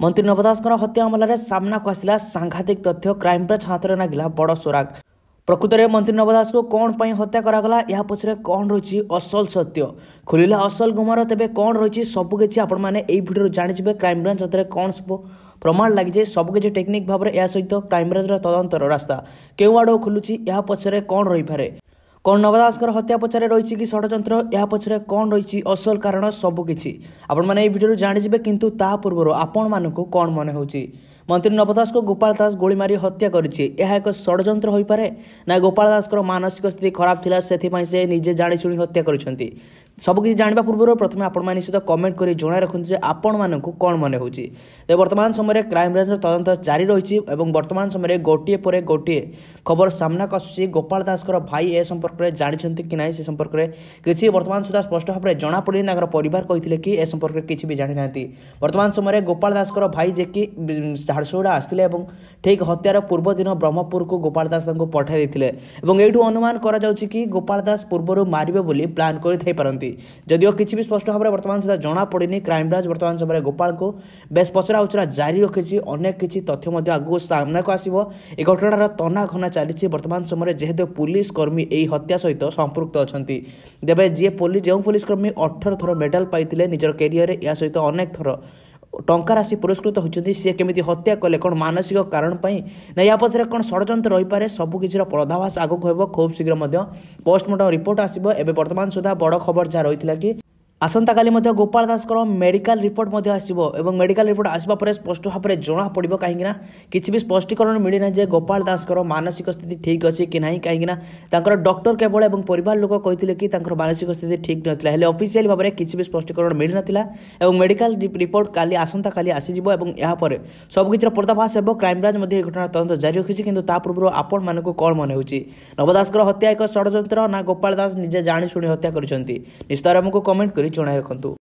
ମନ୍ତ୍ରୀ ନବ ଦାସଙ୍କର ହତ୍ୟା ମାମଲାରେ ସାମ୍ନାକୁ ଆସିଲା ସାଂଘାତିକ ତଥ୍ୟ। କ୍ରାଇମବ୍ରାଞ୍ଚ ହାତରେ ଲାଗିଲା ବଡ଼ ସୁରାଗ। ପ୍ରକୃତରେ ମନ୍ତ୍ରୀ ନବ ଦାସଙ୍କୁ କ'ଣ ପାଇଁ ହତ୍ୟା କରାଗଲା, ଏହା ପଛରେ କ'ଣ ରହିଛି ଅସଲ ସତ୍ୟ, ଖୋଲିଲା ଅସଲ ଗୁମର। ତେବେ କ'ଣ ରହିଛି ସବୁକିଛି ଆପଣମାନେ ଏଇ ଭିଡ଼ିଓରୁ ଜାଣିଯିବେ। କ୍ରାଇମବ୍ରାଞ୍ଚ ହାତରେ କ'ଣ ସବୁ ପ୍ରମାଣ ଲାଗିଛି, ସବୁକିଛି ଟେକ୍ନିକ୍ ଭାବରେ, ଏହା ସହିତ କ୍ରାଇମବ୍ରାଞ୍ଚର ତଦନ୍ତର ରାସ୍ତା କେଉଁ ଆଡ଼କୁ ଖୋଲୁଛି, ଏହା ପଛରେ କ'ଣ ରହିପାରେ, କ'ଣ ନବ ଦାସଙ୍କର ହତ୍ୟା ପଛରେ ରହିଛି କି ଷଡ଼ଯନ୍ତ୍ର, ଏହା ପଛରେ କ'ଣ ରହିଛି ଅସଲ କାରଣ, ସବୁକିଛି ଆପଣମାନେ ଏଇ ଭିଡ଼ିଓରୁ ଜାଣିଯିବେ। କିନ୍ତୁ ତା ପୂର୍ବରୁ ଆପଣମାନଙ୍କୁ କ'ଣ ମନେ ହେଉଛି, ମନ୍ତ୍ରୀ ନବ ଦାସଙ୍କୁ ଗୋପାଳ ଦାସ ଗୁଳି ମାରି ହତ୍ୟା କରିଛି, ଏହା ଏକ ଷଡ଼ଯନ୍ତ୍ର ହୋଇପାରେ ନା ଗୋପାଳ ଦାସଙ୍କର ମାନସିକ ସ୍ଥିତି ଖରାପ ଥିଲା ସେଥିପାଇଁ ସେ ନିଜେ ଜାଣିଶୁଣି ହତ୍ୟା କରିଛନ୍ତି? ସବୁକିଛି ଜାଣିବା ପୂର୍ବରୁ ପ୍ରଥମେ ଆପଣମାନେ ନିଶ୍ଚିତ କମେଣ୍ଟ କରି ଜଣାଇ ରଖନ୍ତୁ ଯେ ଆପଣମାନଙ୍କୁ କ'ଣ ମନେ ହେଉଛି। ତେବେ ବର୍ତ୍ତମାନ ସମୟରେ କ୍ରାଇମବ୍ରାଞ୍ଚର ତଦନ୍ତ ଜାରି ରହିଛି ଏବଂ ବର୍ତ୍ତମାନ ସମୟରେ ଗୋଟିଏ ପରେ ଗୋଟିଏ ଖବର ସାମ୍ନାକୁ ଆସୁଛି। ଗୋପାଳ ଦାସଙ୍କର ଭାଇ ଏ ସମ୍ପର୍କରେ ଜାଣିଛନ୍ତି କି ନାହିଁ ସେ ସମ୍ପର୍କରେ କିଛି ବର୍ତ୍ତମାନ ସୁଦ୍ଧା ସ୍ପଷ୍ଟ ଭାବରେ ଜଣାପଡ଼ିନି। ତାଙ୍କର ପରିବାର କହିଥିଲେ କି ଏ ସମ୍ପର୍କରେ କିଛି ବି ଜାଣିନାହାନ୍ତି। ବର୍ତ୍ତମାନ ସମୟରେ ଗୋପାଳ ଦାସଙ୍କର ଭାଇ ଯିଏକି ଝାରସୁଗୁଡ଼ା ଆସିଥିଲେ ଏବଂ ଠିକ୍ ହତ୍ୟାର ପୂର୍ବ ଦିନ ବ୍ରହ୍ମପୁରକୁ ଗୋପାଳ ଦାସ ତାଙ୍କୁ ପଠାଇ ଦେଇଥିଲେ ଏବଂ ଏଇଠୁ ଅନୁମାନ କରାଯାଉଛି କି ଗୋପାଳ ଦାସ ପୂର୍ବରୁ ମାରିବେ ବୋଲି ପ୍ଲାନ୍ କରିଥାଇପାରନ୍ତି। ଯଦିଓ କିଛି ବି ସ୍ପଷ୍ଟ ଭାବରେ ବର୍ତ୍ତମାନ ସୁଦ୍ଧା ଜଣାପଡ଼ିନି। କ୍ରାଇମବ୍ରାଞ୍ଚ ବର୍ତ୍ତମାନ ସମୟରେ ଗୋପାଳଙ୍କୁ ବେଶ ପଚରା ଉଚରା ଜାରି ରଖିଛି। ଅନେକ କିଛି ତଥ୍ୟ ମଧ୍ୟ ଆଗକୁ ସାମ୍ନାକୁ ଆସିବ। ଏ ଘଟଣାର ତନାଘନା ଚାଲିଛି ବର୍ତ୍ତମାନ ସମୟରେ, ଯେହେତୁ ପୁଲିସ କର୍ମୀ ଏହି ହତ୍ୟା ସହିତ ସମ୍ପୃକ୍ତ ଅଛନ୍ତି। ତେବେ ଯିଏ ପୋଲିସ, ଯେଉଁ ପୋଲିସ କର୍ମୀ 18 ଥର ମେଡାଲ ପାଇଥିଲେ ନିଜର କ୍ୟାରିୟରରେ, ଏହା ସହିତ ଅନେକ ଥର ଟଙ୍କା ରାଶି ପୁରସ୍କୃତ ହୋଇଛନ୍ତି, ସିଏ କେମିତି ହତ୍ୟା କଲେ? କ'ଣ ମାନସିକ କାରଣ ପାଇଁ ନା ୟା ପଛରେ କ'ଣ ଷଡ଼ଯନ୍ତ୍ର ରହିପାରେ? ସବୁକିଛିର ପର୍ଦ୍ଦାଫାଶ ଆଗକୁ ହେବ। ଖୁବ୍ ଶୀଘ୍ର ମଧ୍ୟ ପୋଷ୍ଟମର୍ଟମ ରିପୋର୍ଟ ଆସିବ। ଏବେ ବର୍ତ୍ତମାନ ସୁଦ୍ଧା ବଡ଼ ଖବର ଯାହା ରହିଥିଲା କି ଆସନ୍ତାକାଲି ମଧ୍ୟ ଗୋପାଳ ଦାସଙ୍କର ମେଡିକାଲ ରିପୋର୍ଟ ମଧ୍ୟ ଆସିବ ଏବଂ ମେଡିକାଲ ରିପୋର୍ଟ ଆସିବା ପରେ ସ୍ପଷ୍ଟ ଭାବରେ ଜଣାପଡ଼ିବ, କାହିଁକିନା କିଛି ବି ସ୍ପଷ୍ଟୀକରଣ ମିଳିନାହିଁ ଯେ ଗୋପାଳ ଦାସଙ୍କର ମାନସିକ ସ୍ଥିତି ଠିକ୍ ଅଛି କି ନାହିଁ। କାହିଁକିନା ତାଙ୍କର ଡକ୍ଟର କେବଳ ଏବଂ ପରିବାର ଲୋକ କହିଥିଲେ କି ତାଙ୍କର ମାନସିକ ସ୍ଥିତି ଠିକ୍ ନଥିଲା, ହେଲେ ଅଫିସିଆଲି ଭାବରେ କିଛି ବି ସ୍ପଷ୍ଟୀକରଣ ମିଳିନଥିଲା ଏବଂ ମେଡିକାଲ ରିପୋର୍ଟ କାଲି ଆସନ୍ତାକାଲି ଆସିଯିବ ଏବଂ ଏହାପରେ ସବୁକିଛିର ପର୍ଦ୍ଦାଫାଶ ହେବ। କ୍ରାଇମବ୍ରାଞ୍ଚ ମଧ୍ୟ ଏହି ଘଟଣାର ତଦନ୍ତ ଜାରି ରଖିଛି। କିନ୍ତୁ ତା ପୂର୍ବରୁ ଆପଣମାନଙ୍କୁ କ'ଣ ମନେ ହେଉଛି, ନବ ଦାସଙ୍କର ହତ୍ୟା ଏକ ଷଡ଼ଯନ୍ତ୍ର ନା ଗୋପାଳ ଦାସ ନିଜେ ଜାଣିଶୁଣି ହତ୍ୟା କରିଛନ୍ତି? ନିଶ୍ଚିତ ଆମକୁ କମେଣ୍ଟ କରି ଜଣାଇ ରଖନ୍ତୁ।